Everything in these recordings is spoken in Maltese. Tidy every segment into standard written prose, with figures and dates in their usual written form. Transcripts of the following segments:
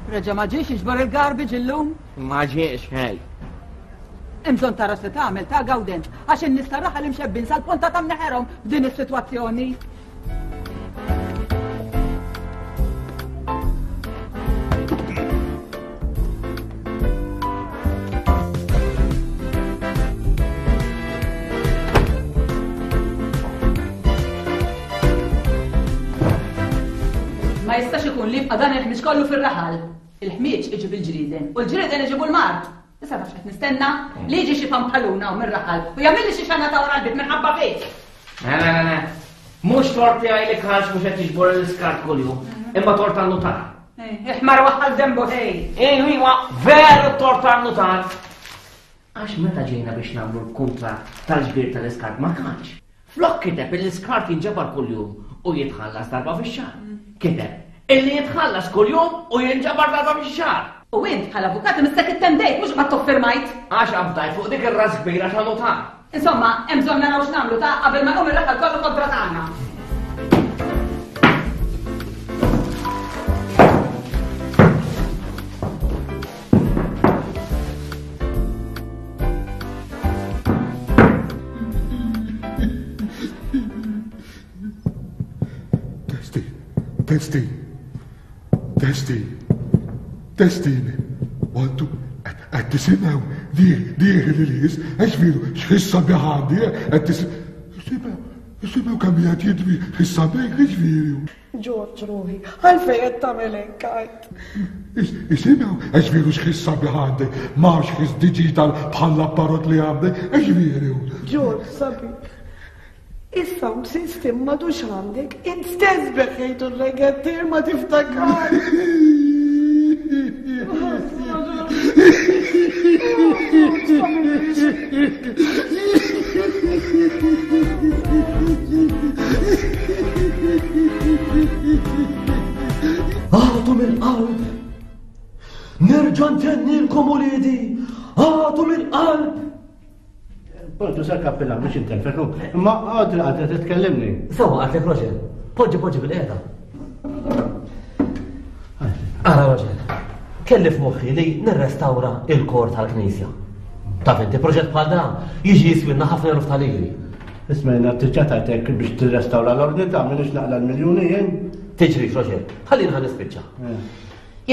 Reġa' ma ġiex jiġbor il-garbage illum? Ma ġiex, ħej. Hemm bżonn tara se tagħmel ta' Gawdenz għax in-nies tar-raħal imxebbin sal-ponta ta' mneħerhom b'din is-sitwazzjoni. Ma jistax ikun li jibqa' dan il-ħmieġ kollu fir-raħal. Il-ħmieġ iġib il-ġrieden u l-ġrieden iġibu l-mard. Issa taf x'qed nistenna? Li jiġi xi pampaluna hawn mir-raħal u jagħmilli xi xana ta' wara l-bib minħabba fik. Le, le, le, Mhux tort tiegħi li Karl mhux qed jiġbor l-iskart kuljum, imma tort tan-nutar. Iħmar waħħal dembu ħej. Ejwa, veru tort tan-nutar. Għax meta ġejna biex nagħmlu l-kuntratt tal-ġbir tal-iskart ma kanx. Flok kiteb illi l-iskart jinġabar kuljum u jitħallas darba fix-xahar. Kiteb illi jitħallas kuljum u jinġabar darba fix-xahar. U int bħala avukat imissek ittendejt mhux qbadt u ffirmajt. Għax afdajt fuq dik ir-ras kbira ta' nutar. Insomma, hemm bżonn naraw x'nagħmlu ta' qabel ma jqum ir-raħal kollu kontra tagħna. Testing, testing, testing, testing. One, two, qed tisimgħu dieħel il-ħis, għax veru x'ħis sabiħ għandi, qed tisimgħu, isimgħu kemm qiegħed jidwi ħis sabiħ, għax veru. Ġorġ ruħi, għalfejn qed tagħmel hekk għid? Isimgħu, għax veru x'ħis sabiħ għandi, ma x'ħis digital bħal l-apparat li għandi, għax veru. Ġorġ sabiħ. Is-sound system m'għadux għandek, int stess beħejtu r-regattir ma tiftakar. Għatu mill-qalb! Nerġa' ntennilkom uliedi! Għatu mill-qalb! Poġġu sar kappillan biex intelfek, imma għadri għadri titkellimni. Sawa għatlek Roger, poġġi poġġi bil-qiegħda. Ara Roger, kelli f'moħħi li nirrestawra il-kor tal-knisja. Taf inti proġett bħal dan jiġi jiswilna ħafna eluf ta' liri. Isma' jiena diġà tajtek biex tirrestawra l-ordni ta' minix naqla l-miljuni jien. Tiġri Roger, ħallini ħa nispiċċa. Eh.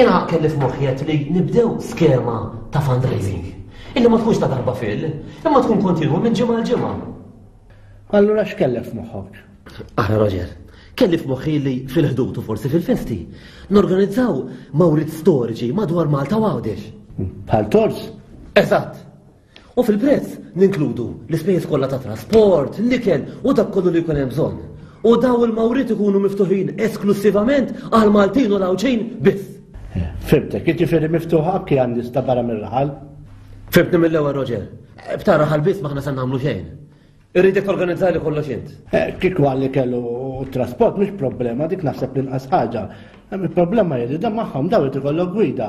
Jiena kelli f'moħħi għedt li nibdew skema ta' fundraising. Illi ma tkunx ta' darba fil, imma tkun kontinwa minn ġimgħa għal ġimgħa. Allura x'kellek f'moħħok? Ara Roger, kelli f'moħħi li fil-ħdud u forsi fil-festi norganizzaw mawrit storiċi madwar Malta u Għawdex. Bħal tors? Eżatt. U fil-prezz ninkludu l-ispejjeż kollha ta' trasport, l-ikel u dak kollu li jkun hemm bżonn. U daw il-mawriet ikunu miftuħin esklussivament għal Maltin u l-Għawdxin biss. Fimtek, jiġifieri miftuħa anki għan nies ta' barra mir-raħal. Fimtni mill-ewwel Roger. B'ta' raħal biss m'aħna se nagħmlu xejn. Irridek torganizzali kollox int. Eh, kieku għalli kellu trasport mhux problema, dik naħseb l-inqas ħaġa. Il-problema hi li dan magħhom daw irid ikollok gwida.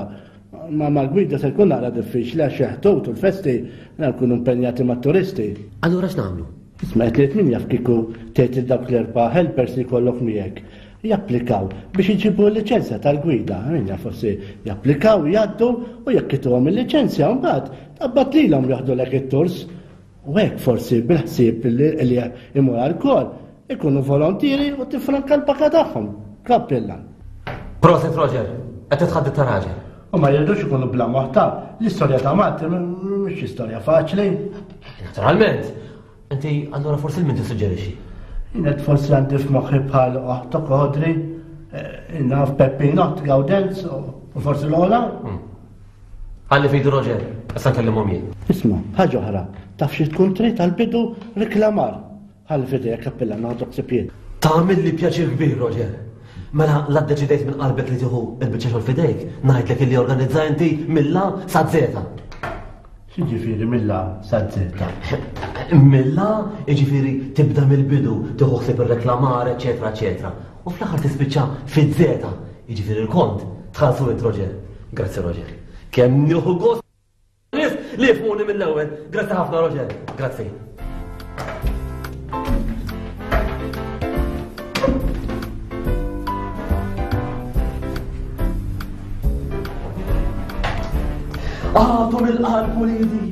Ma mal-gwida se jkun naqra diffiċli għax jeħtut u l-festi nkunu impenjati mat-turisti. Allura x'nagħmlu? Isma' qed li min jaf kieku tgħid lil dawk l-erba' helpers li jkollok miegħek japplikaw biex iġibu l-liċenzja tal-gwida. Min jaf forsi japplikaw, jgħaddu u jekk ituhom il-liċenzja mbagħad tqabbad lilhom joħdulek it-turs. U hekk forsi bil-ħsieb li imur għall-kor, ikunu volontieri u tifranka l-paka tagħhom. Kappillan. Proset Roger, qed titħadded ta' raġel. U ma jridux ikunu bla moħħ ta' l-istorja ta' Malti mhix istorja faċli. Naturalment. Inti allura forsi l-min tissuġġerixxi? Jien qed forsi għandi f'moħħi bħal oħtok Audrey, eh, naf Peppin, oħt Gaudenz u forsi l-ola. Hmm. Ħalli f'idu Roger, issa nkellimhom jien. Isma', ħaġa oħra, taf xi tkun trid għall-bidu riklamar. Ħalli f'idejja kappilla noħodlok ħsieb jien. Tagħmilli pjaċir kbir, Roger. Mela la ddeċidejt minn qalbek li tieħu l-biċċa xogħol f'idejk, ngħidlek illi organizza inti mill-A sa Z. X'jiġifieri mill-A sa Z? Mill-A jiġifieri tibda mill-bidu, tieħu ħsieb ir-reklamar, eċetera, eċetera. U fl-aħħar tispiċċa fiż-żeta, jiġifieri l-kont, tħallsu int Roger. Grazzi Roger. Kemm nieħu gost nies li jifhmuni mill-ewwel. Grazzi ħafna Roger. Grazzi. Għadu mill-qalb uliedi.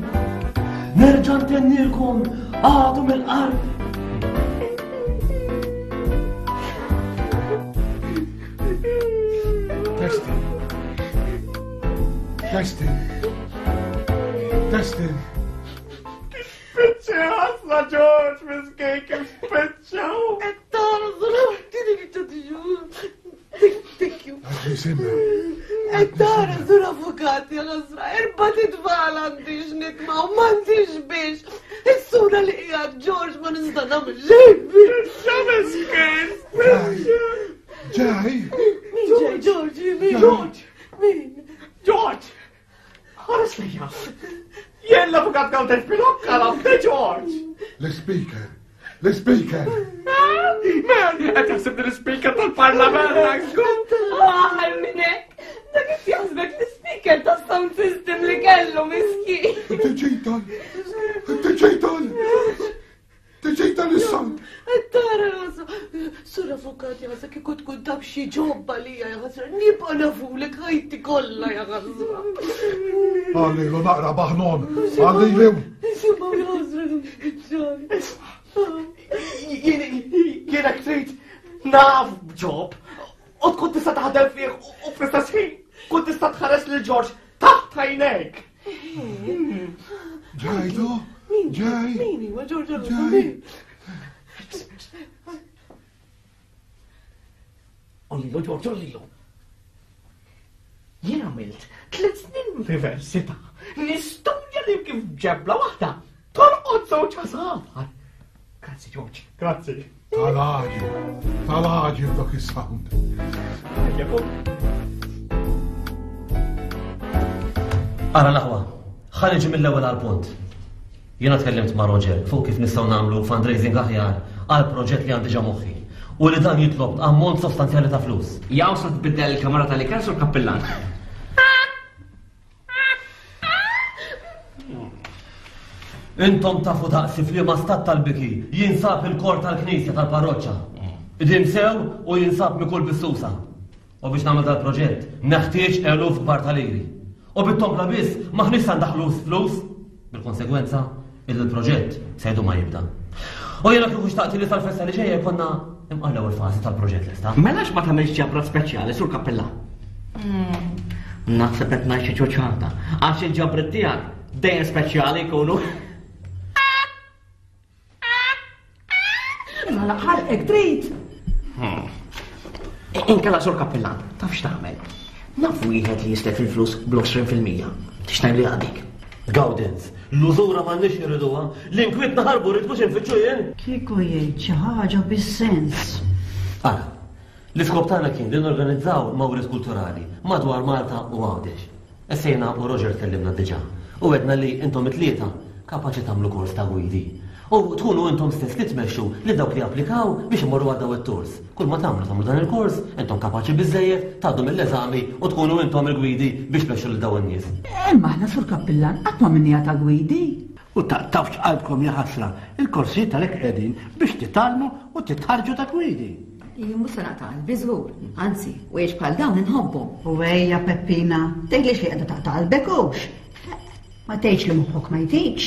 Nerġa' ntennilkom, għadu mill-qalb. Testing. Testing. Testing. Spiċċa ħasla George, miskin, kif spiċċa. Thank you. Jisimha. Qed tara sur avukat ja ħasra, erba' titfal għandi x'nitma' u m'għandix biex. Is-sura li qiegħed George ma nista' nagħmel xejn biex. Miskin! Ġej! Min ġej George? Min George? Min? George! Ħares lejja! Jien l-avukat Gawder Filokka la George! L-speaker! L-speaker! Man, qed jaħseb li l-speaker tal-parlament Aħar minn hekk! Dak qed jaħsbek l-speaker tas-sound system li kellu miskin. Digital! Digital! Digital is-sound! Qed tara ħasra. Sur avukat ja ħasra kieku tkun taf xi ġobba lija ja ħasra. Nibqa' nafulek ħajti kollha ja ħasra. Għallilu naqra baħnon! Għallilu! Isimgħu ja ħasra nispiċċani. Jiena trid naf b'ġob u tkun tista' taħdem fih u fl-istess ħin tkun tista' tħares lil George taħt għajnejk. Ġejtu? Ġej! Min huwa George Ġej! Ollilu, George, ollilu. Jien għamilt tliet snin l-università nistudja li kif ġebla waħda torqod żewġ għasafar. Grazzi, George, grazzi. Tal-għaġib! Tal-għaġib dak is-sound! Ejja, kom. Ara l-aħwa, ħa niġi mill-ewwel għall-punt. Jiena tkellimt ma' Roger fuq kif nistgħu nagħmlu fundraising aħjar għal proġett li għandi ġa moħħi u li dan jitlob ammont sostanzjali ta' flus. Jaw sa tbiddel il-kamra tal-ikel sur kappillan. Intom tafu daqsi f'liema stat tal-biki jinsab il-kor tal-knisja tal-parroċċa. Qdim sew u jinsab mikul bis-susa. U biex nagħmel dal-proġett neħtieġ eluf kbar ta' liri. U bit-tombla biss m'aħniex se ndaħħlu flus, bil-konsegwenza illi l-proġett se jdum ma jibda. U jiena kieku xtaqt li sal-festa li ġejja jkollna imqar l-ewwel fażi tal-proġett lesta. Mela ma tagħmilx ġabra speċjali sur kappella? Naħseb qed ngħid xi ċuċata, għax il-ġabrit tiegħek dejjem speċjali jkunu. Mela ħalqek trid. Inkella sur kappillan, taf x'tagħmel? Naf wieħed li jislef il-flus bl-20%. Tixtajn li għadik. Gawdenz, l-użura m'għandniex irriduha, l-inkwiet naħarbu rrid mhux infittxu jien. Kieku jgħid xi ħaġa bis-sens. Ara, l-iskop tagħna kien li norganizzaw mawriet kulturali madwar Malta u Għawdex. Issa jiena u Roger tkellimna diġà u għedna li intom it-tlieta kapaċi tagħmlu kors ta' gwidi. U tkunu intom stess li tmexxu lil dawk li japplikaw biex imorru għal daw it-tours. Kull ma tagħmlu tagħmlu dan il-kors, intom kapaċi biżżejjed, tgħaddu mill-eżami u tkunu intom il-gwidi biex tmexxu lil daw in-nies. Imma aħna sur kappillan qatt ma minniha ta' gwidi. U taqtgħux qalbkom jaħasra, il-korsijiet għalhekk qegħdin biex titgħallmu u titħarrġu ta' gwidi. Jien mhux se naqta' qalbi żgur, anzi, wiex bħal dawn inħobbhom. U ejja Peppina, tgħidlix li qiegħda taqta' qalbek hux. Ma tgħidx li moħħok ma jtikx.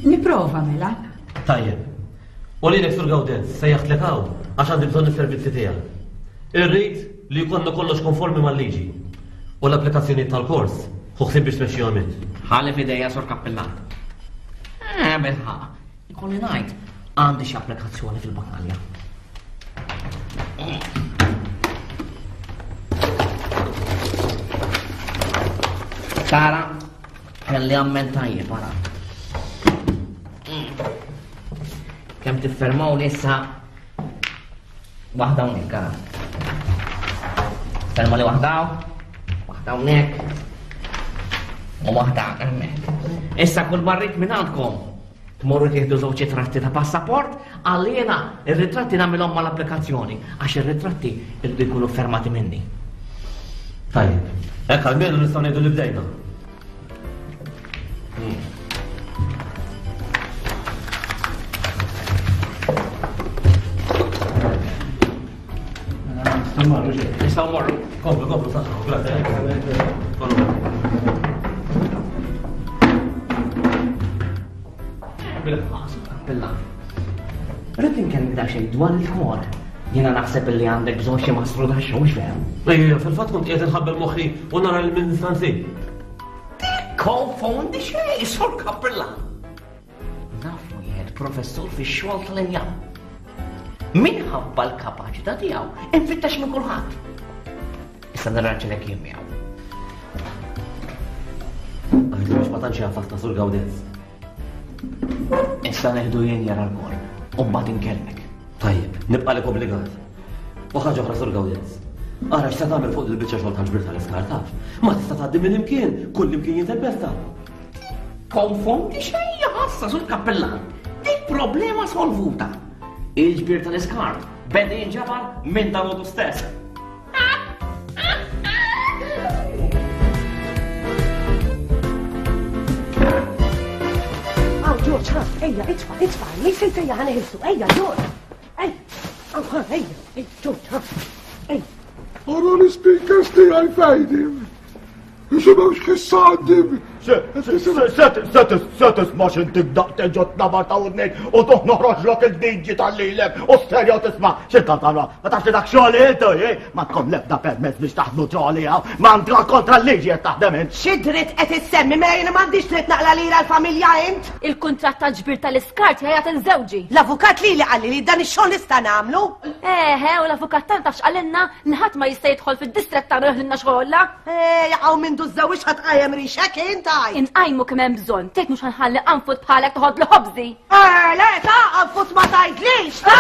Nipprova mela. Tajjeb. U lilek Sur Gawdenz, sejjaħtlek hawn għax għandi bżonn is-servizzi tiegħek. Irrid li jkollna kollox konformi mal-liġi. U l-applikazzjonijiet tal-kors, ħu ħsieb biex tmexxihom int. Ħalli f'idejja Sur Kappillan. Eh, bilħaqq. Ikolli ngħid, għandi xi applikazzjoni fil-bakalja. Tara, kelli amment tajjeb, ara. Kemm tiffermaw li issa waħda hawnhekk, ara. Ferma li waħda waħda hawnhekk u waħda hemmhekk. Issa kull marrit minn għandkom Tmorru tieħdu żewġ ritratti ta' passaport, għal jiena ir-ritratti nagħmilhom mal-applikazzjoni, għax ir-ritratti irridu jkunu fermati minni. Tajjeb, hekk almenu nistgħu ngħidu li bdejna. Nistgħu mmorru xejn. Nistgħu mmorru. Komplu, komplu, saħħa, grazie. Bil-ħas, Rrid inkellmek daqsxejn dwar il-kor. Jiena naħseb li għandek bżonn xi mastru ta' xogħol veru. Ejja, fil-fatt kont qiegħed inħabbel moħħi u nara lil min nista' nsib. Konfondi xejn, sur kappillan. Naf wieħed professur fix-xogħol tal-injam. Minħabba l-kapaċità tiegħu, infittex minn kulħadd. Issa nirranġilek jien miegħu. Għajdu biex ma tantx jafak ta' Sur Gawdenz. Issa neħdu jien jara l-kor, u mbagħad inkellmek. Tajjeb, nibqalek obbligat. U ħaġa oħra Sur Gawdenz. Ara x'se tagħmel fuq il-biċċa xogħol tal-ġbir tal-iskar taf. Ma tista' tgħaddi minn imkien, kull imkien jintempesta. Konfondi xejn ħassa sur kappellan. Dik problema solvuta. Il-ġbir tal-iskart beda jinġabar minn dalodu stess. Aw, George, ħa, ejja, itfa, itfa, li sejt ejja ħana ħilsu, ejja, George. Ej, aw, ħa, ejja, ej, George, ħa, ej. Ara l-speakers tiegħi fejdim. Isimgħu x'ħissa għandi. Se tisma' x'inti daqt ġo tnabar ta' udnejk u tuħ noħroġlok il-diġi tal-lilek u stereo tisma' x'intant ma tafx li dak xogħol intu, ma tkom l-ebda permezz biex taħdmu xogħol hawn, ma għandha kontra l-liġi qed taħdem int. Xi dritt qed issemmi mela jiena m'għandix dritt naqla lira l-familja int? Il-kuntratt tal-ġbir tal-iskart jgħajat inżewġi. L-avukat lili qalli li dan ix-xogħol nista' nagħmlu. Eħe, u l-avukat tagħna tafx qalilna li ħadd ma jista' jidħol fid-distrett tagħna joħdilna xogħolha. Eh, jaqgħu minn dużżewġ ħadd qajjem rixek int għaj. Inqajmu kemm hemm bżonn, tgħid mhux ħanħalli qanfut bħalek toħodlu ħobżi. Eh, le, ta' qanfut ma tgħidlix, ta'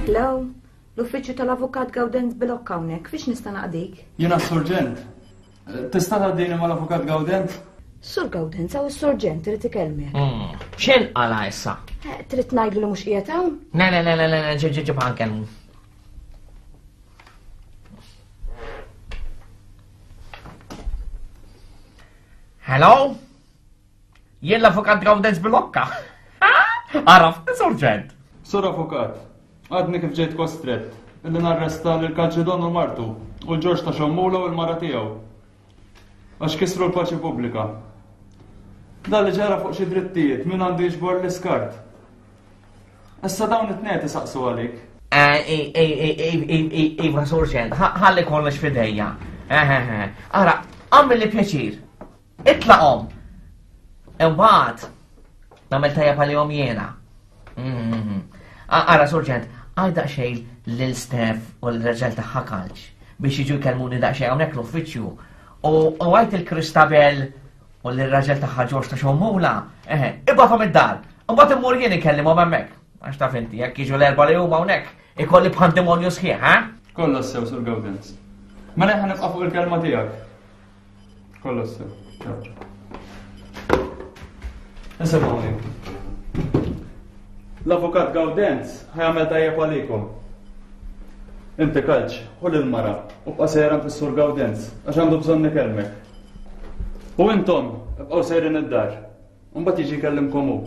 Hello, l-uffiċċju tal-Avukat Gawdenz Bilocca hawnhekk, fiex nista' naqdik? Jiena s-surġent. Tista' tgħaddini mal-Avukat Gawdenz? Sur Gawdenz hawn is-surġent irid ikellmek. X'in qala issa? Eh, trid ngħidlu li mhux qiegħed hawn? Le, le, le, le, le, ġib ġib ġib ħankellmu. Hello? Jien l-avukat Gawdenz Bilocca. Għaraf, surġent. Sur avukat, għadni kif ġejt kostrett illi narresta lil Kalċidon u martu u l-Ġorġ ta' Xommula u l-mara tiegħu. Għax kisru l-paċi pubblika. Dan li ġara fuq xi drittijiet min għandu jiġbor l-iskart. Issa dawn it-tnejn isaqsu għalik. Iva, surġent, ħalli kollox fidejja. Ara, għamil li pjaċir. Itlaqhom. Imbagħad nagħmel tajjeb għalihom jiena. Mm-hmm. Ara, surġent, għal daqsxejn lil Steph u l-raġel tagħha kalċ biex jiġu jkellmuni daqsxejn hawnhekk l-uffiċċju. U għajt il-Kristabel u l-raġel tagħha Ġorġ ta' Xomula, eħe, ibgħathom id-dar. Imbagħad immur jien inkellimhom hemmhekk. Għax taf inti, jekk jiġu l-erba' li huma hawnhekk, ikolli pandemonju sħiħ, ha? Kollox sew, Sur Gawdenz. Mela ħa nibqa' fuq il-kelma tiegħek. Kollox sew. Ciao. Nisimgħuni. L-avukat Gawdenz ħajamel tajjeb għalikom. Inti kalċ, ħu lil-mara u bqa' sejra fis-Sur Gawdenz għax għandu bżonn ikellmek. U intom, ibqgħu sejrin id-dar. U mbagħad jiġi jkellimkom hu.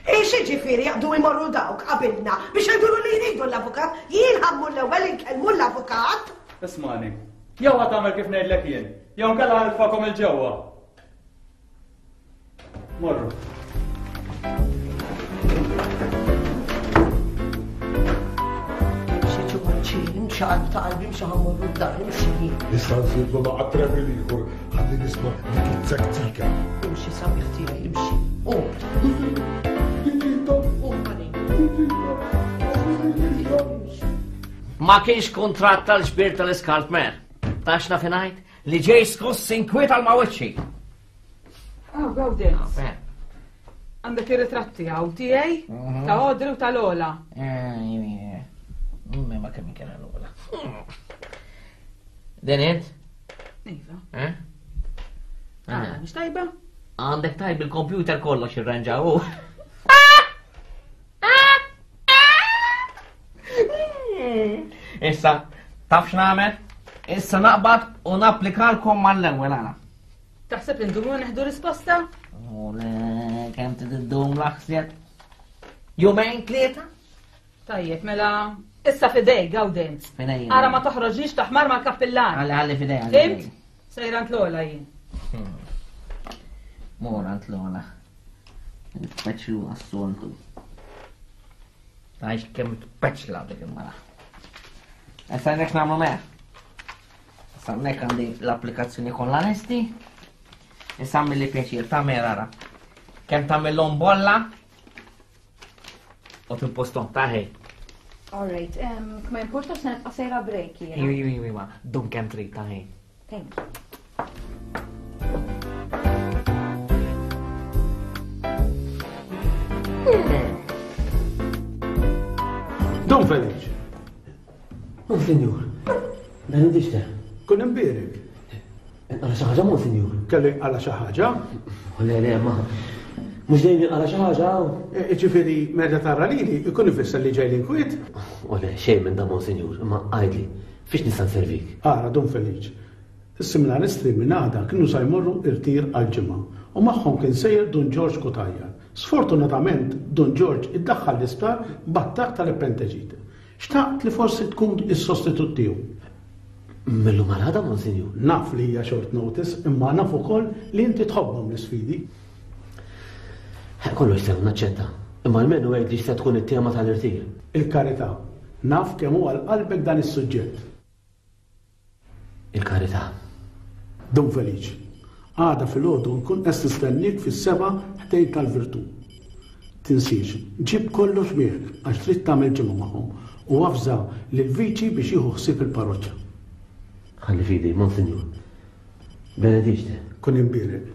Hi x'jiġifieri jaqbdu jmorru dawk qabilna biex jgħidulu li jridu l-avukat? Jien ħa mmur l-ewwel inkellmu l-avukat. Ismagħni. Jew ħa tagħmel kif ngħidlek jien, jew inkella ħa nitfagħkom 'il ġewwa. Morru. Imxi Ġorġi, imxi qalb ta' qalbi, imxi ħa mmorru d-dar, imxi. Issa nżidlu naqa' trebil ieħor ħalli nisma' dik it-tektika. Imxi sabiħ tiegħi, imxi. Qum. Qum Ma kienx kuntratt tal-ġbir tal-iskart mer. Tax naf ngħid li ġej skoss inkwiet għal ma' wiċċi. Ah, Gawdenz. Għandek ir-ritratti hawn tiegħi, mhm. ta' Audrey u ta' Lola. Eh, ma kemm kien Lola. Din int? Iva. Eh? Ah, mhix tajba? Għandek tajb il-kompjuter kollox irranġaw. Issa, taf x'nagħmel? Issa naqbad u napplikalkom mal-ewwel għala. Taħseb li ndumu neħdu risposta? Ole, kemm tiddum l-aħseb? Jumejn tlieta? Tajjeb, mela issa fidej, Gawdenz. Fidej. Ara ma toħroġniex taħmar mal-kappillan. Għalli għalli fidej. Fimt? Sejra l-ola jien. Mora għand l-ola. Nitpeċlu għas-soltu. Għax kemm tpeċla dik il-mara. Issa nek nagħmlu meħ. Issa nek għandi l-applikazzjoni kollha lesti. Issa li pjaċir ta' ara. Kemm tagħmilhom bolla u timpostom ta' ħej. All right, ma importax se nibqa' sejra break jiena. Iwi, iwi, iwi, dum kemm trid ta' ħej. Thank you. Don Felice. Monsignor, benedixte. Kun imbierek. Għala xi ħaġa, Monsignor. Kelli għala xi ħaġa? Le, le, ma. Mhux dejjem għala xi ħaġa. E, ġifieri meta tara lili ikun ifisser li ġej l-inkwiet? O le, xejn minn da Monsignor, imma għidli, fiex nista' nservik? Ara, Dun Feliċ, is-seminaristi minn għada kienu sa jmorru irtir għal ġimgħa u magħhom kien sejjer Dun Ġorġ Cutajar. Sfortunatament, Dun Ġorġ iddaħħal l-isptar b'attakk tal-appenteġite. Xtaqt li forsi tkun is-sostitut tiegħu. Mil-lum għal għada, Monsinjur? Naf li hija short notice, imma naf ukoll li inti tħobbhom l-isfidi. Kollox sew, naċċetta. Imma almenu għidli x'se tkun it-tema tal-irtir. Il-karità. Naf kemm hu għal qalbek dan is-suġġett. Il-karità. Dun Feliċ, għada filgħodu nkun qed nistenniek fis-sebgħa ħdejn tal-Virtù. Tinsiex, ġib kollox miegħek għax trid tagħmel ġimgħa magħhom u avża lill-Viċi biex jieħu ħsieb il-parroċċa. Ħalli f'idej, Monsinjur. Benediċte. Kun imbierek.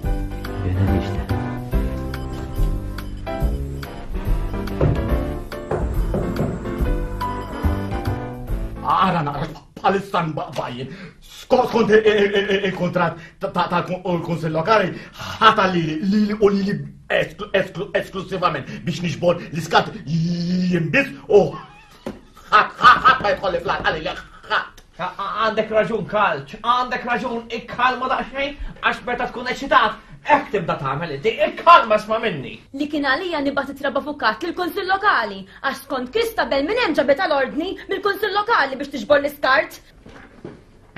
Benediċte. Ara naqra bħalissa nbaqbajin. Skont il-kontrat tal-Kunsill Lokali ħata lili lili u lili esklusivament biex nixbor l-iskat jimbis u ħadd ma jidħol fl għalli ħadd. Għandek raġun, Kalċ, għandek raġun, ikkalma daqsxejn, għax meta tkun eċitat, hekk tibda tagħmel inti, ikkalma sma minni. Li kien għalija nibgħat ittra b'avukat lill-Kunsill Lokali, għax skont Christabel minn hemm ġabet l-ordni mill-Kunsill Lokali biex tiġbor l-iskart.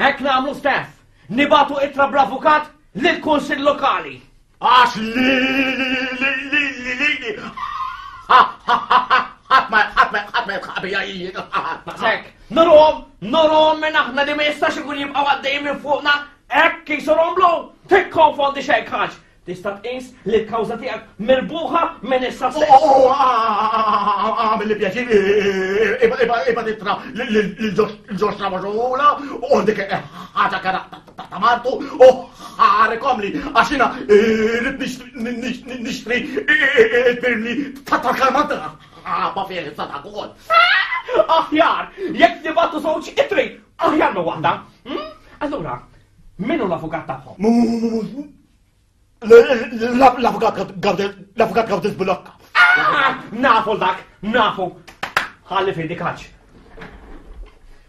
Hekk nagħmlu stess, nibgħatu ittra bl-avukat lill-Kunsill Lokali. Għax li li li li li li ħadd ma ħadd ma ħadd ma jibqa' bija jien. Daqshekk, nurhom, nurhom minn aħna li ma jistax ikun jibqgħu għaddejjin minn fuqna hekk kif romblu, tikkonfondi xejn kaċ. Tista' tqis li l-kawża tiegħek mirbuħa minn issa stess. Oh, għamil li pjaċir, iba titra l-ġox Ramaġola u dik ħaġa kara ta' martu u ħarekom li għax jiena rrid nixtri il-pirli ta' tal-kalmanta. Ma fih ta' ukoll. Aħjar, jekk nibgħatu żewġ itri, aħjar minn waħda. Hmm? Allura, min hu l-avukat tagħhom? L-avukat l-avukat Gawdis Bulokka. Ah, nafu dak, nafu. Ħalli fidi kaċ.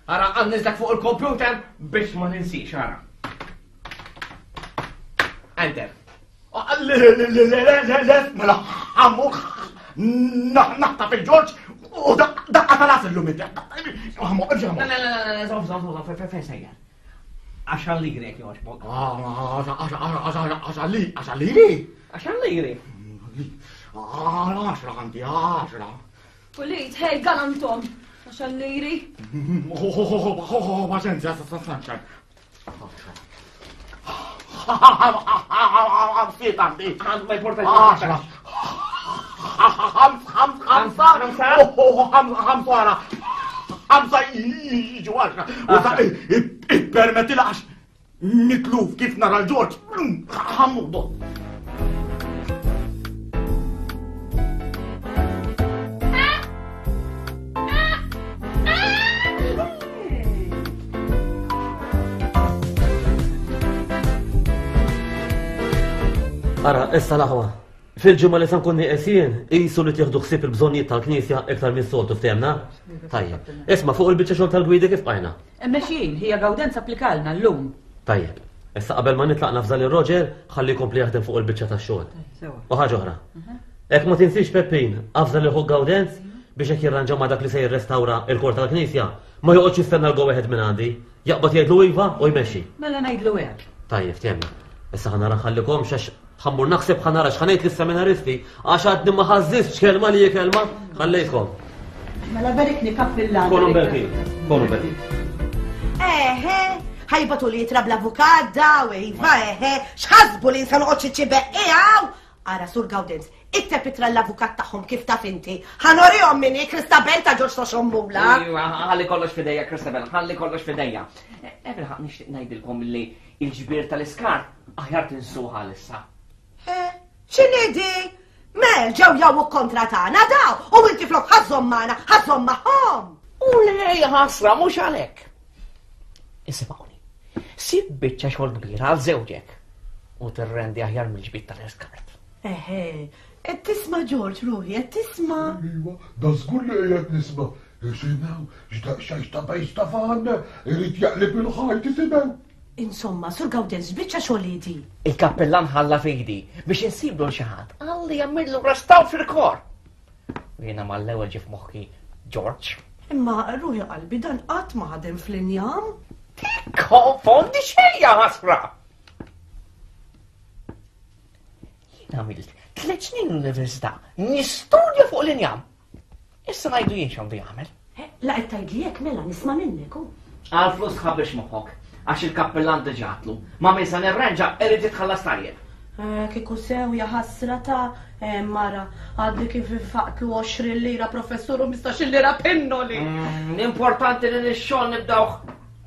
Ara, għannizlek fuq il-computer biex ma ninsix, ara. Enter. Le, le, le, le, le, mela, għammu, naħta fil-ġorġ u daqqa tal-as illum id Għammu, Le, le, le, le, zom, zom, zom, fejn sejjer. Għaxar liri jekk jogħġbok. Għaxar liri? Għaxar liri? Għaxar liri. Għaxra għandi, għaxra. Pulit, hej, galantom. Għaxar liri. Paċenzja, sanċan. Ħamsiet għandi. Ma jportax. Għaxra. Ħamsa. Ħamsa għara. Ħamsa jiġu għaxra. U sa ippermetti għax mitluf kif nara l-Ġorġ. Ħammudu. Ara, issa l-aħwa. Fil-ġimgħa li se nkun nieqes jien, qisu li tieħdu ħsieb il-bżonnijiet tal-Knisja iktar mis-soltu ftehemna? Tajjeb. Isma' fuq il-biċċa xogħol tal-gwidi kif bqajna? Mexjin, ħija Gawdenz applikalna llum. Tajjeb. Issa qabel ma nitlaq nafża lil Roger ħalli jkompli jaħdem fuq il-biċċa tax-xogħol. U ħaġa oħra. Hekk ma tinsiex Peppin, afża lil ħuk Gawdenz biex hekk jirranġa ma' dak li se jirrestawra il-kor tal-Knisja, ma joqgħodx jistenna l-go ahead minn għandi. Jaqbad jgħidlu iva u jmexxi. Mela ngħidlu hekk. Tajjeb, ftehemna. Issa ħa nara nħallikomx għax ħa mmur naħseb ħa nara x'ħa ngħid lis-seminaristi għax għadni ma ħażżistx kelma li hi kelma. Ħallejtkom. Mela berikni kappillan. Konu berkin. Konu berkin. Eħe, ħajbatu li jitra bl-avukat daw, iva, eħe, x'ħasbu li nsa noqgħod xi ċibeqqi hawn? Ara, Sur Gawdenz, ikteb ittra l-avukat tagħhom kif taf inti. Ħa norihom min hi Christabel ta' Ġorġ ta' Xommula. Iva, ħalli kollox f'idejja, Christabel, ħalli kollox f'idejja. Ebilħaq nixtieq ngħidilkom li l-ġbir tal-iskart aħjar tinsuha għalissa. Eh, x'inhi di? Mel ġew jawuk kontra tagħna daw u inti flok ħażhom magħna, ħażhom magħhom. U le ħasra mhux għalhekk. Isimgħuni. Sib biċċa xogħol kbira għal żewġek u tirrendi aħjar mill-ġbid tal-iskart. Eħe, qed tisma' Ġorġ ruħi, qed tisma'. Iva, da żgur li qiegħed nisma'. Isimgħu, x'daqsxejn ta' bejs ta' fan, irid jaqleb il-ħajt isimgħu. Insomma, Sur Gawdenz, x'biċċa xogħol hi di? Il-kappillan ħalla f'idi biex insiblu l xi ħadd għalli jagħmillu restawr fil-kor. U jiena mal-ewwel ġie f'moħħi George. Imma ruħi qalbi dan qatt ma ħadem fl-injam. Tikkonfondi xejn ja ħasra! Jien għamilt tliet snin l-università nistudja fuq l-injam. Issa ngħidu jien x'għandu jagħmel. Eh, la qed tgħidli hekk mela nisma' minnek hu. Għal flus tħabbix moħħok, għax il-kappillan diġà għatlu. Ma' min se nirranġa irid jitħallas tajjeb. Eh, kieku sew ja ħasra ta' eh, mara għadni kif infaqtlu 20 lira professur u 15 lira pinnoli. Mm, l-importanti li x-xogħol nibdawh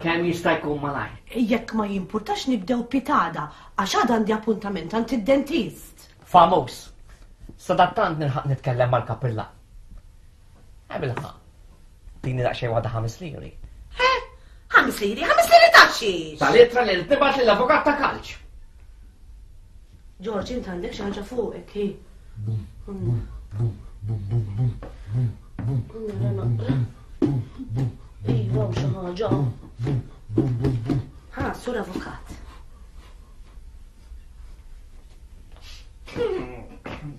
kemm jista' jkun malajr. Jekk ma jimpurtax nibdew pitada għax għad għandi appuntament għand id-dentist. Famuż. Sadattant nilħaq nitkellem mal-kappillan. Eh, bilħaq. Tini daqsxejn waħda ħames liri. Eh, ħames liri, ħames liri ta' xiex. Tal-ittra li tibgħat lill-avukat ta' kalċ. George, int għandek xi ħaġa fuqek, hi. Bum, bum, bum, bum, bum, bum, bum, bum, bum, bum, bum, bum, Iva, xi ħaġa. Bum, bum, bum, bum. Ha, sur avukat.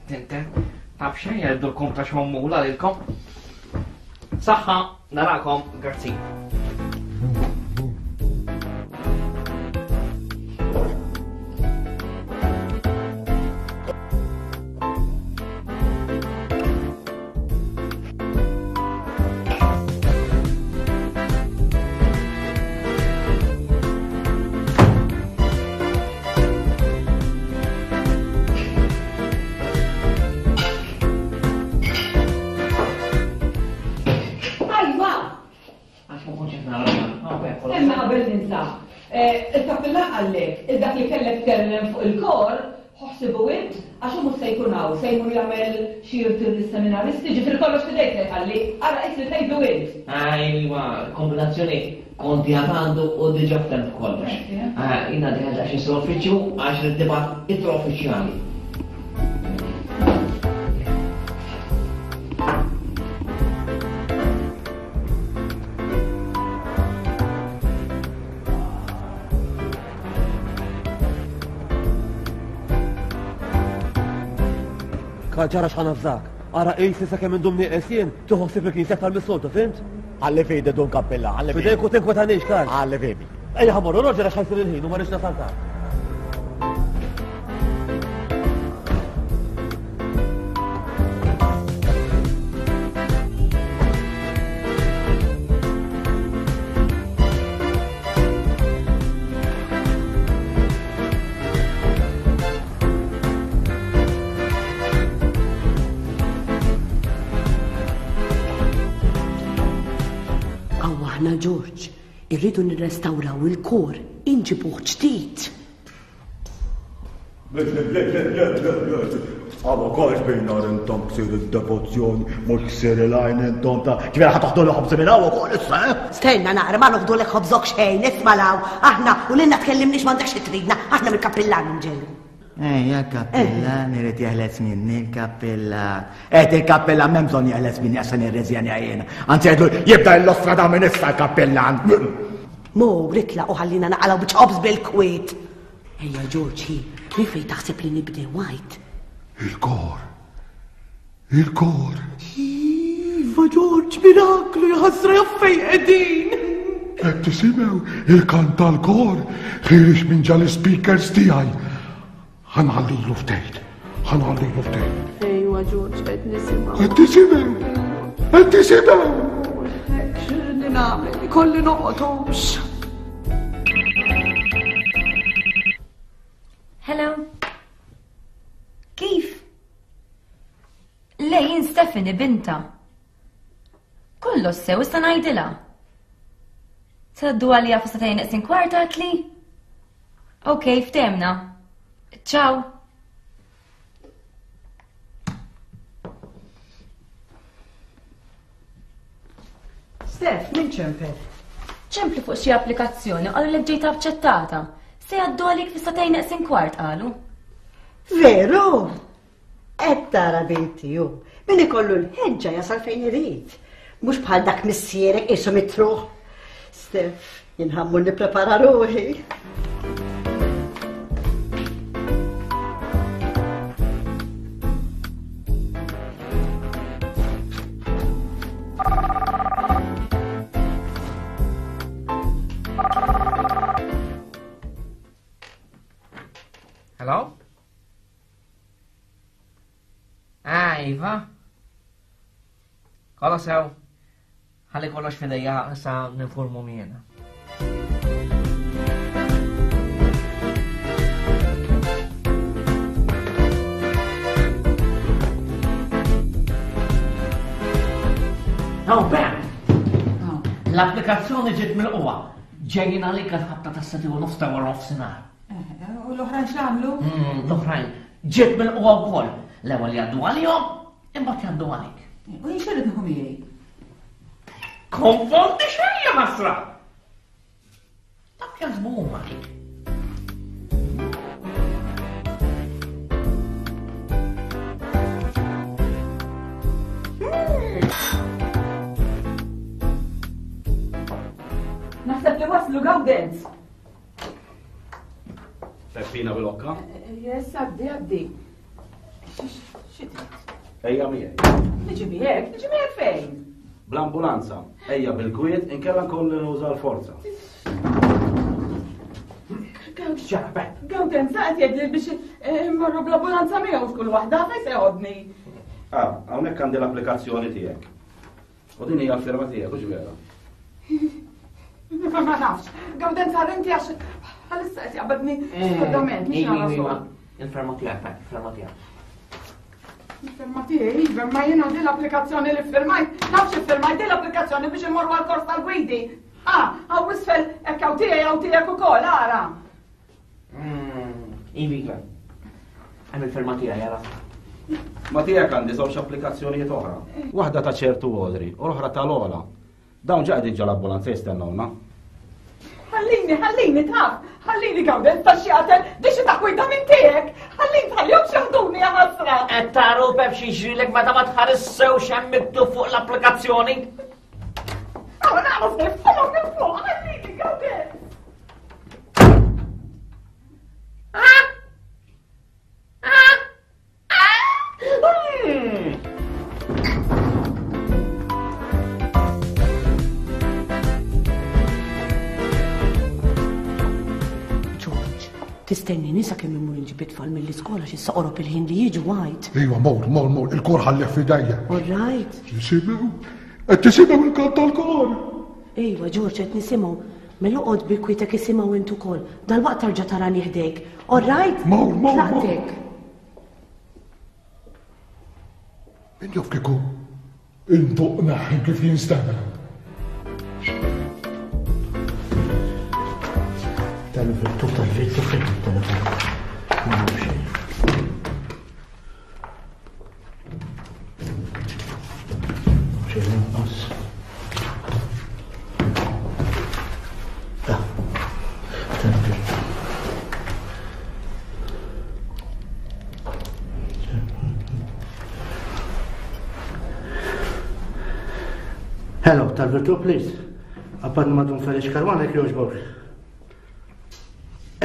Tinten, taf xejn jgħidulkom ta' xommula lilkom. Saħħa, narakom, grazzi. Ajwa! Stenna qabel ninsa. Eh, il-kappillan qallek, il-dak li kellek tkellem fuq il-kor, ħsibu int, għax hu mhux se jkun hawn, se jmur jagħmel xi irtir lis-seminaristi, ġifieri kollox f'idejk se jħalli, ara qis li tgħidlu int. Ajwa, kombinazzjoni konti għad għandu u diġà ftemt kollox. Jiena dieħel daqsxejn sal-uffiċċju għax rrid nibgħat ittra uffiċjali. Kalċara x'ħa nafżak. Ara qis li sakemm indum nieqes jien, tieħu ħsieb il-knisja aktar mis-soltu, fimt? Ħalli fidi dun kappilla, ħalli fidi. Fidejk u tinkwetanix, Karl. Ħalli fidi. Ejja ħa morru, Roger għax ħajsir il-ħin u ma rridx nasal tard. Aw aħna Ġorġ, irridu nirrestawraw il-kor, inġibuh ġdid. Le, le, le, le, le, le. Għabu kolx bejn nar intom ksir il-devozzjoni, mux ksir il-għajn intom ta' ġvera ħa toħdu l-ħobż minn hawn ukoll issa, eh? Stenna naqra ma noħdulek ħobżok xejn, isma' law, aħna u lilna tkellimniex m'għandekx xi tridna, aħna mill-kappillan inġejjin. Ejja, l-kappillan irid jeħles minni l-kappillan. Qed il-kappillan m'hemm bżonn jeħles minni għax se nirreżjenja jiena. Anzi għedlu jibda l-ostra da minn issa l-kappillan. Mur itlaq u ħallina naqalgħu biċċa ħobż bil-kwiet. Ejja Ġorġ, hi, minn fejn taħseb li nibdew għid? Il-kor. Il-kor. Iva Ġorġ, miraklu jaħasra jaf fejn qegħdin. Qed tisimgħu il-kant tal-kor ħiereġ minn ġal speakers tiegħi. Ħa nħallilu ftit. Ħa nħallilu ftit. Ejwa Ġorġ, qed nisimgħu. Qed tisimgħu. Qed tisimgħu. X'inhi nagħmel? Ikolli noqgħod hux. Hello. Kif? Le jien Stephanie binta. Kollox sew issa ngħidilha. Tgħaddu għalija fi satejn neqsin kwart għatli? Ok, ftemna. Ciao. Steph, min ċempel? Ċemplu fuq xi applikazzjoni qalu li ġejt aċċettata. Se jgħaddu għalik fi satejn neqsin kwart qalu. Veru? Qed tara binti hu, min ikollu l-ħeġġa jasal fejn irid. Mhux bħal dak missierek qisu mitruħ. Steph, jien ħammur nipprepara ruħi. Hello? Ah, Iva. Kollox sew. Ħalli kollox fidejja sa ninformu jiena. Oh, Ben! L-applikazzjoni ġiet mill-qwa. Ġejjin għalik għal-ħabta tas seti u nofs ta' wara nofsinhar. U l-oħrajn x'għamlu? Mm, l-oħrajn ġiet mill-qwa wkoll. L-ewwel jgħaddu għalihom, imbagħad jgħaddu għalik. U jien x'irrid nieħu miegħi? Konfondi xejn ja ħasra! Dak jaħsbu huma. Naħseb li waslu Gawdenz. Peppina Bilocca? Yes, għaddi, għaddi. Xi trid? Ejja miegħi. Niġi miegħek, niġi miegħek fejn? Bl-ambulanza, ejja bil-kwiet, inkella nkolli nuża l-forza. Gawden, saqet jgħidli biex eh, marru bl-ambulanza miegħu f'kull waħda fejn se jgħodni. Ah, hawnhekk għandi l-applikazzjoni tiegħek. U din hija l-firma tiegħek, hux vera? Ma nafx. Gawdenza inti għax għalissa qed jaqbadni mm. skordament, mhux nara iva, Il-firma tiegħek, il-firma tiegħek. Il-firma tiegħi, iva, ma jiena din l-applikazzjoni li firmajt, nafx iffirmajt din l-applikazzjoni biex immorru għall-kors tal-gwidi. Ah, għaw isfel hekk hawn tiegħi hawn tiegħek ukoll, ara. Ivi, iva. Hemm il-firma tiegħi jara. Ma tiegħek għandi żewġ applikazzjonijiet oħra. Waħda ta' ċertu Audrey u l-oħra ta' Lola. Dawn ġa qegħdin ġol-ambulanza jistennewna. Ħallini, ħallini taf, ħallini gawden ta' xjaten, di xi taħwida minn tiegħek. Ħallini tħallihom xaħduni ja ħasra. Qed taru pep xi jiġrilek meta ma tħares sew x'hemm miktub fuq l-applikazzjoni. Għaw nagħmlu minn fuq, ħallini gawden. George, tistennini sakemm immur inġib it-tfal mill-iskola xi soqrob il-ħin li jiġu għajt. Iva, mor, mor, mor, il-kor ħallih f'idejja. All right. Tisimgħu? Qed tisimgħu il-kant tal-kor? Iva, George, qed nisimgħu. Mela oqgħod bi kwietek isimgħu int ukoll. Dalwaqt tarġa' tarani ħdejk. All right? Mor, mor, mor. Tlaqtek. Min jaf kieku indoq naħi kif jinstema'. Tal-virtu, tal-virtu, fejn il-telefon. Ma nafx. Xejn lanqas. Da. Tal-virtu. Hello, tal-virtu, please. Appan madun Felix Karwana jek joġbok.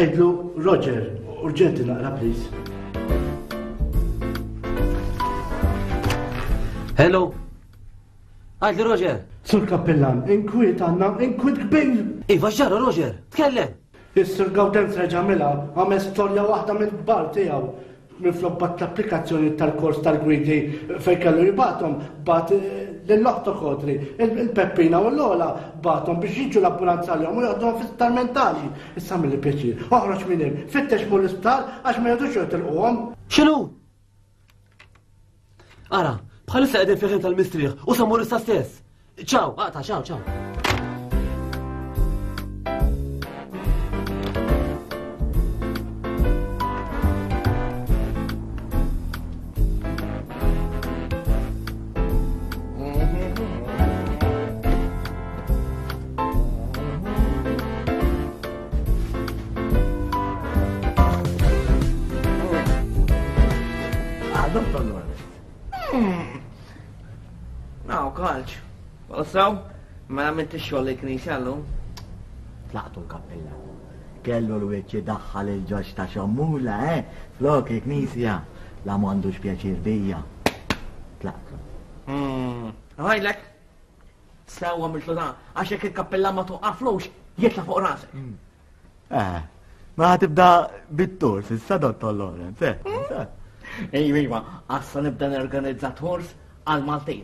Edlu Roger, urġenti naqra, please. Hello. Għadli Roger. Sur Kappillan, inkwiet għanna, inkwiet kbir. Iva ġara Roger, tkellem. Is-Sur Gawdenz reġa' għamilha, għamel storja waħda mill-kbar tiegħu. Minflok bagħat l-applikazzjonijiet tal-kors tal-gwidi fejn kellu jibgħathom, bagħat lil oħtok Audrey, il-Peppina u l-Lola bagħathom biex jiġu l-ambulanza għalihom u joqgħduhom fi-sptar mentali. Issa għamilli pjaċir, oħroġ minn hemm, fittex mur l-isptar għax ma jgħodux jotilquhom. X'inhu? Ara, bħalissa qegħdin fil-ħin tal-mistrieħ u sa mmur issa stess. Ciao, aqta, ciao, ciao. Naw, kalċ. Saw, mela għamilt ix-xogħol il-knisja llum. Tlaqtu l-kappilla. Kellu l-wiċċ idaħħal il-ġoġ ta' xommula, eh? Flok il-knisja. La m'għandux pjaċir bija. Tlaqtu. Għajlek, Sew għamiltlu dan, għax jekk il-kappella ma toqaflux, jitla' fuq rasek. Mm. Eh, ma tibda bit-tours, issa Dottor Lawrence, eh. Mm. Ejwa, iva, għassa nibda nerganizza tours għal Maltin.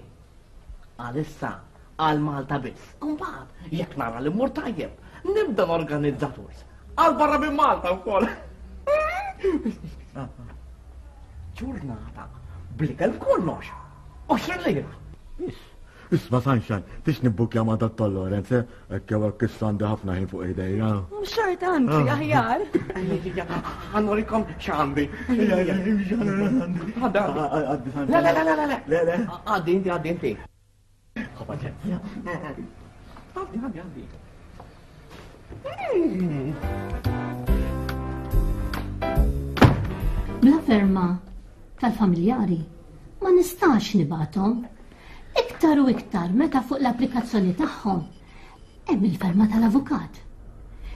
Għalissa, għal Malta biss. Mbagħad, jekk nara li mmur tajjeb, nibda norganizza tours għal barra minn Malta wkoll. Ġurnata blikel kollox. 20 lira. Isma' Sunshine, tix nibbukja ma' Dottor Lawrence, eh? Hekk jew hekk issa għandi ħafna ħin fuq idejja. Xorta anzi, ah. aħjar. Għanurikom x'għandi. Le, le, le, le, le. Le, le. Għaddi inti, għaddi inti. Għaddi, għaddi, għaddi. Bla ferma tal-familjari ma nistax nibgħathom. Iktar u iktar meta fuq l-applikazzjoni tagħhom hemm il-ferma tal-avukat.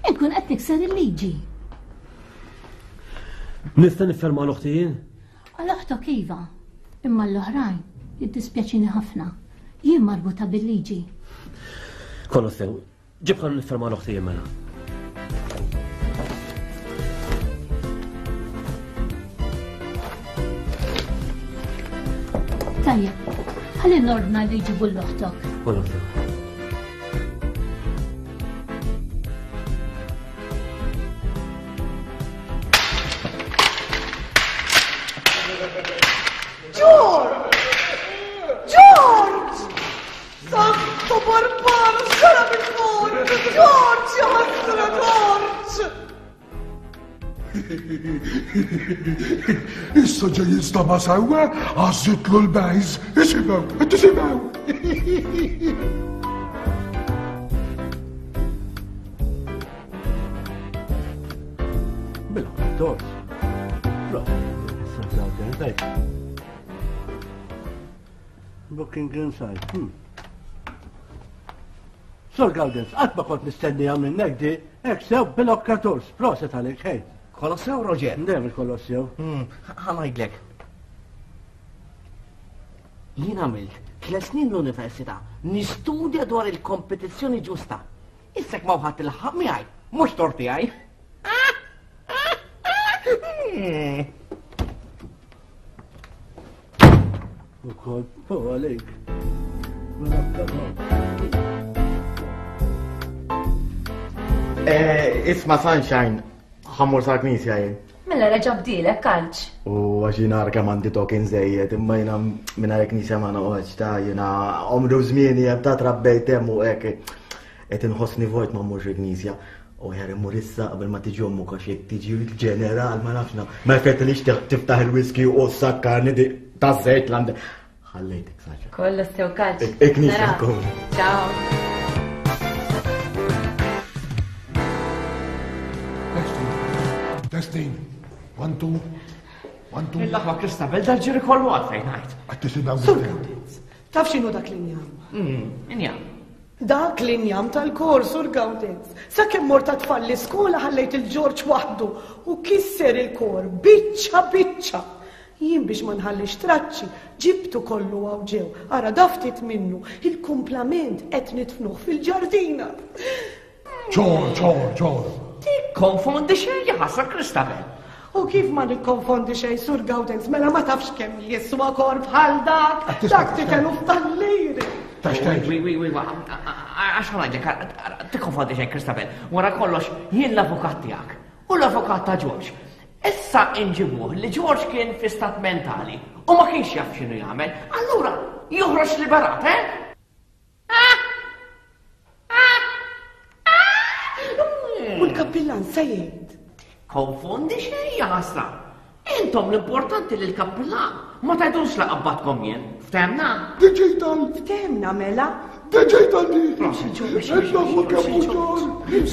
Inkun qed nikser il-liġi. Nista' nifferma l-oħti jien? Għal oħtok iva, imma l-oħrajn jiddispjaċini ħafna. Jien marbuta bil-liġi. Kollu sew, Ġib ħallu nifferma l-oħti jien mela. Tajjeb, ħalli nordna li jġibu l-oħtok. L-oħtok. George! George! Santo Barbaro, xara bil-fur! George, ja ħasra George! Issa ġej jinstama sewwa, għażitlu l-bejż, isimgħu, tisimgħu. Bil-ħodor. Booking inside. Hmm. Sur Gawdens, qatt ma kont nistennija minnek di, hekk sew bil-okkaturs, proset għalik, hej. Kollox sew, Roger? Dejjem kollox sew. Hmm, ħa ngħidlek. Jien għamilt tliet snin l-università nistudja dwar il-kompetizzjoni ġusta. Issa ma ħadd il-ħaq miegħi, mhux tort tiegħi. Ukoll fuq għalik. Eh, isma Sunshine, ħammur sa' knisja jien. Mela reġa' bdielek kalċ. U għax jien ara kemm għandi token żejjed, imma jiena mingħajr knisja ma noqgħodx ta' jiena għomru żmieni hemm ta' trabbejt hemm u hekk qed inħossni vojt ma mmurx il-knisja. U jar immur issa qabel ma tiġi ommu għax jekk tiġi l-ġeneral ma nafx ma jfettilix tiftaħ il-whisky u s-sakkarni ta' żejt l-għandek. Ħallejtek Saċa. Kollu sew kalċ. Il-knisja tkun. Ciao. Testing. One, two. One, two. Il-laħwa Kristabel dal-ġiri kollu għalfejn għajt. Għattisimgħu. Taf x'inhu dak l-injam? Injam. Dak l-injam tal-kor, Sur Gawdenz. Sakemm mort għat-tfal l-iskola ħallejt il-Ġorġ waħdu u kisser il-kor biċċa biċċa. Jien biex ma nħallix traċċi, ġibtu kollu hawn ġew. Ara da ftit minnu, il-kumplament qed nidfnuh fil-ġardina. Ċor, ċor, ċor. Tikkonfondi xejn jaħasra Christabel. U kif ma nikkonfondi xejn Sur Gawdenz, mela ma tafx kemm jiswa kor bħal dak, dak titelu f'tal-liri. Wi, wi, wi, għax ħanaġek, tikkonfondi xejn Christabel. Wara kollox, jien l-avukat tiegħek u l-avukat ta' George. Issa inġibuh li George kien fi stat mentali u ma kienx jaf x'inhu jagħmel, allura joħroġ liberat, eh? U l-kappillan se jgħid. Konfondi xejn ja ħasra. Intom l-importanti li l-kappillan ma tgħidux la qabbatkom jien. Ftemna? Digital! Ftemna mela? Digital di! Intom kemm ġor! Kemm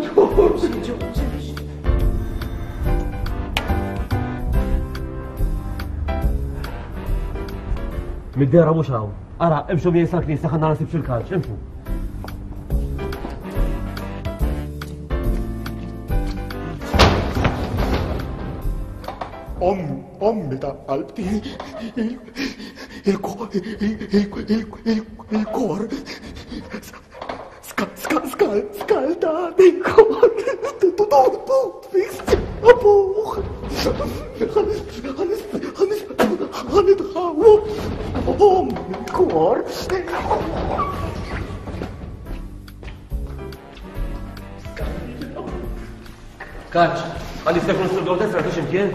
ġor! Mid-dera mhux hawn. Ara, imxu miegħi sal-knisja ħa nara nsib xil-kalċ, imxu. Om, ommi ta' qalbti, il-kor, ska, ska, ska, skalda, il-kor, tu, tu, tu, tu, abuħ, ħanitħawu, om, il-kor. Kaċ, għalli se jkun sur Gawdez rajtu x'imkien?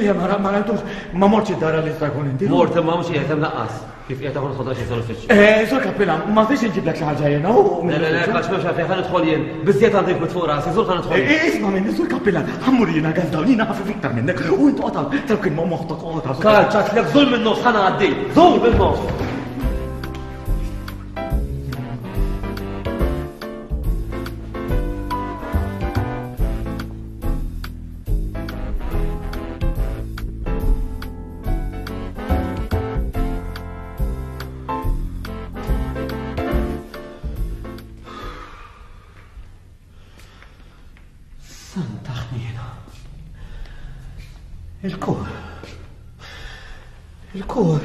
Le, ma ma rajtux, ma mortx id-dar għalli jista' jkun inti. Mort imma mhux qiegħed hemm laqqas. Kif qiegħed hawn ħodha xi sal-uffiċċju. Eh, sur Kappillan, ma tix inġiblek xi ħaġa jiena u. Le, le, le, kaċ m'hemmx għalfejn ħa nidħol jien. Biżżejjed għandi nkwiet fuq rasi, żur ħa nidħol jien. Eh, isma' minni, sur Kappillan, ħa mmur jiena għal dawn, jiena ħafif iktar minnek u int oqgħod hawn, taf kien ma moħħok oqgħod hawn. Kaċ, għadtlek żur min-nofs ħa ngħaddi, żur min-nofs. Santa ħniena. Il-kor. Il-kor.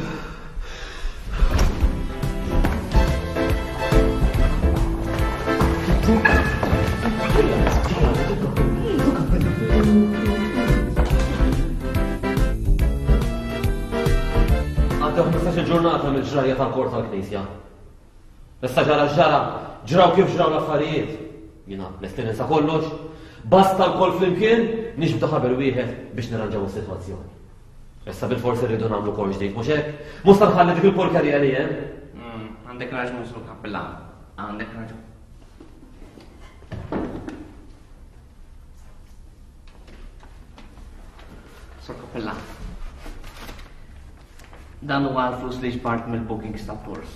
Għaddew 15 ġurnata mill-ġrajja tal-kor tal-Knisja. Issa ġara ġara, ġraw kif ġraw l-affarijiet. Jiena lest li ninsa kollox, basta lkoll flimkien nixbdu ħabel wieħed biex nirranġaw is-sitwazzjoni. Issa bil-forsi rridu nagħmlu kor ġdid, mhux hekk? Mhux se nħalli dik il-porkerija li hemm. Mm, għandek raġun sur kappillan. Għandek raġun. Sur kappillan. Dan huwa l-flus li ġbart mill-bookings ta' tours.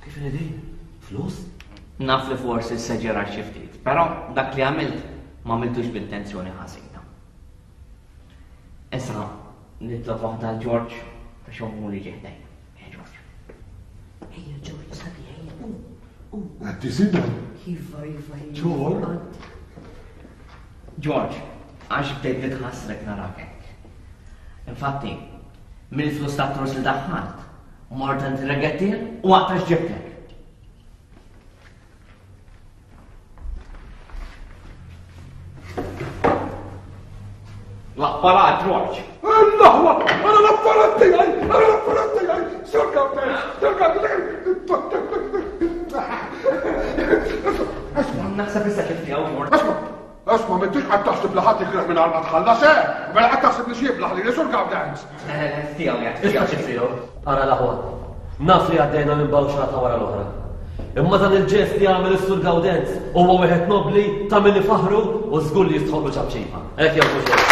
Kif inhi Flus? Naf li forsi seġera xi ftit, però dak li għamilt ma għamiltux b'intenzjoni ħażina. Issa nitlob waħda għal George ta' xommu li ġieħdejn. Ejja George. Ejja George, sabi ejja. Um, um. Qed tisimgħu? Iva, iva, iva. George. George, għax bdejt nitħassrek narak hekk. Infatti, mill-flus ta' tors li daħħalt, mort għand ir-regettir u għaqta x'ġibtlek. L-apparat, George. L-aħwa, għara l-apparat tiegħi, għara l-apparat tiegħi. Sur Gawdenz, Sur Gawdenz. Naħseb issa kif tiegħu, George. Asma, asma, m'intix qed taħseb li ħadd jikreh mingħajr ma tħallas, eh? Mela qed taħseb li x'jiblaħ lili Sur Gawdenz. Tiegħu jgħid. Issa kif tiegħu. Ara l-aħwa. Naf li għaddejna minn bawxata wara l-oħra. Imma dan il-ġest li għamel is-Sur Gawdenz huwa wieħed nobbli ta' min ifaħħru u żgur li jistħoqqlu ċapċipa. Hekk jew mhux hekk?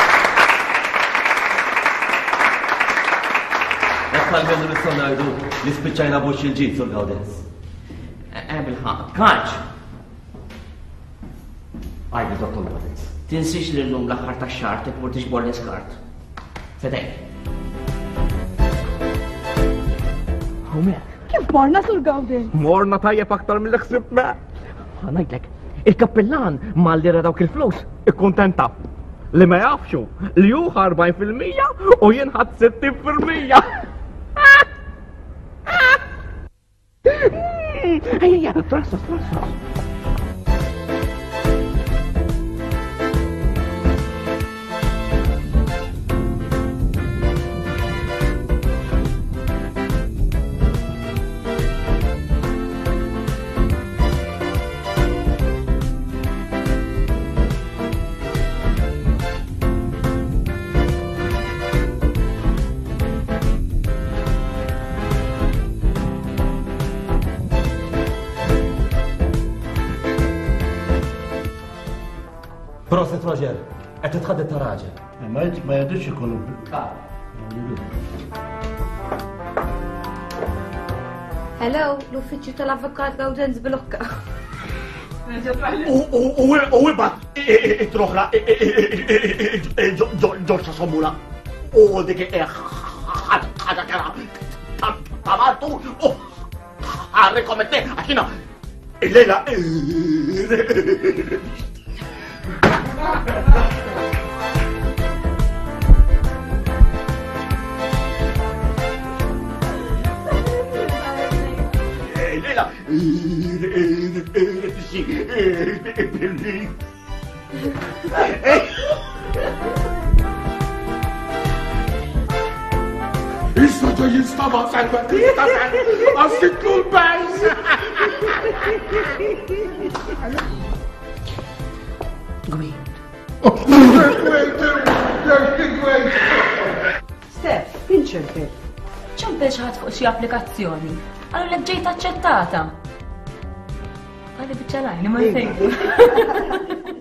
Hekk almenu nistgħu ngħidu li spiċċajna b'wiċċ il-ġid, Sur Gawdenz. Eh, bil-ħaqq. Kaċ! Għajdi, Dottor Gawdenz. Tinsiex li llum l-aħħar tax-xahar tmur tiġbor l-iskart. Fedejk. Hawnhekk. Kif morna sur Gawden? Morna tajjeb aktar mill ħsibna. Ngħidlek, il-kappillan malli ra dawk il-flus ikkuntenta li ma jafxu li hu 40% u jien ħadd 60%. Ejja, trassos, trassos. Proset Roger, qed titħadded ta' raġel. Eh, ma ma jgħidux ikunu. Hello, l-uffiċċju tal-Avukat Gawdenz Bilocca. U ibat it-troħra ġorġa sommula u dik ħaġa kera ta' martu u ħarrikom it għaxina il-lejla Il-lejla Issa ġej jinstama' selma Christopher, għassitlu l-bajs. Steph, min ċempel? Ċempel xi ħadd fuq xi applikazzjoni. Qalu lek ġejt aċċettata. Għalli biċċa lajni ma nsejtu.